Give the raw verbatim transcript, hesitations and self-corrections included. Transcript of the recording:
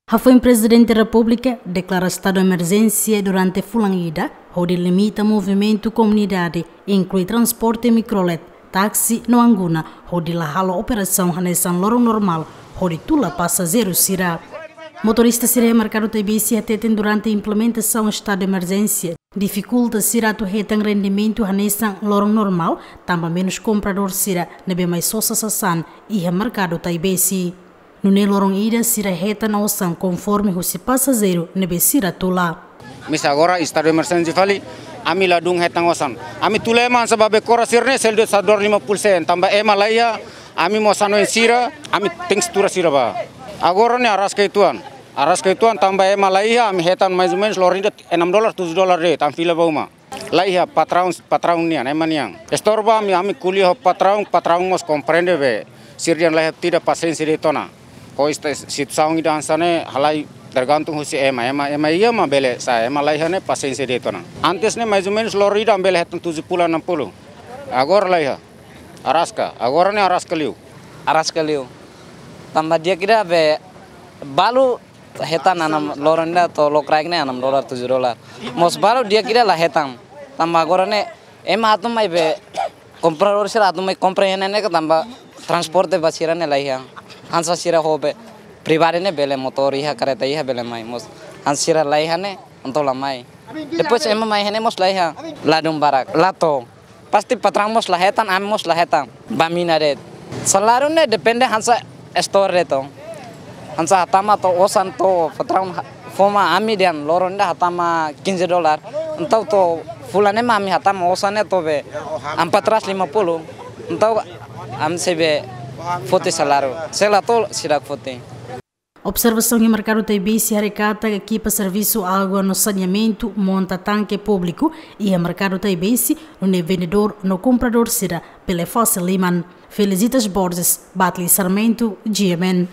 Hafoin Prezidente Repúblika deklara estadu emerjénsia durante fulan ida, hodi limita movimentu komunidade, inklui transporte mikrolet, táksi no anguna, hodi la halo operasaun hanesan loron normál, hodi tula pasajeiru sira. Motorista sira iha merkadu Taibesi hateten durante implementasaun estadu emerjénsia, difikulta sira atu hetan rendimentu hanesan loron normál, tanba menus kompradór sira ne'ebé mai sosa sasán iha merkadu Taibesi. Nune'e loron ida sira hetan osan konforme husi pasajeiru ne'ebé sira tula. Misa agora estadu emerjénsia fali, ami ladún hetan osan. Ami tula ema hanesan ba Becora sira-ne'e selu de'it satu dolar lima puluh sen, tanba ema laiha, ami mós hanoin sira, ami tenke tuur sira ba. Agora ne'e araska uitoan. Araska uitoan tanba ema laiha, ami hetan mais ou menus loron ida enam dolar, tujuh dolar de'it, ami fila ba uma. Laiha patraun, patraun nian, ema nian. Estorba ami, ami ko'alia ho patraun, patraun mós komprende be. Sira dehan laiha, tidak pasiénsia de'it ona. Ho esta situasaun ida hanesan ne'e halai tergantung husi ema, ema, ema iha mak bele sa'e, ema laiha ne'e pasiénsia de'it ona. Antes ne'e mais ou menus loron ida ami bele hetan tujuh puluh, enam puluh. Agora laiha. Araska, agora ne'e araska liu. Araska liu. Tanba di'ak ida be balu hetan enam loron ida to'o lokraik ne'e enam dolar, tujuh dolar. Mós balu di'ak ida la hetan. Tanba agora ne'e ema atu mai be kompradór sira atu mai kompra iha ne'e ne'e ka tanba transporte ba sira ne'e laiha. Hanesan sira ho be pribadi ne'e bele motór iha, kareta iha bele mai mós. Hanesan sira laiha ne'e entaun la mai. Depois ema mai iha ne'e mós laiha. Ladún barak. La to'o. Pasti patraun mós la hetan, ami mós la hetan. Ba mina de'it. Saláriu ne'e depende hanesan estór de'it. Hanesan hatama to'o osan to'o patraun ha-, fó mai ami dehan loron ida hatama quinze dolar. Entaun to'o fulan ne'e mak ami hatama osan ne'e to'o be empat ratus lima puluh. Entaun ami sei be foti saláriu. Se la to'o seidauk foti. Observasaun iha merkadu Taibesi haree katak ekipa servisu água no saneamentu monta tanke públiku iha merkadu Taibesi, nune'e vendedór no kompradór sira bele fasil liman. Felicitas Borges, Batli Sarmento, G M N.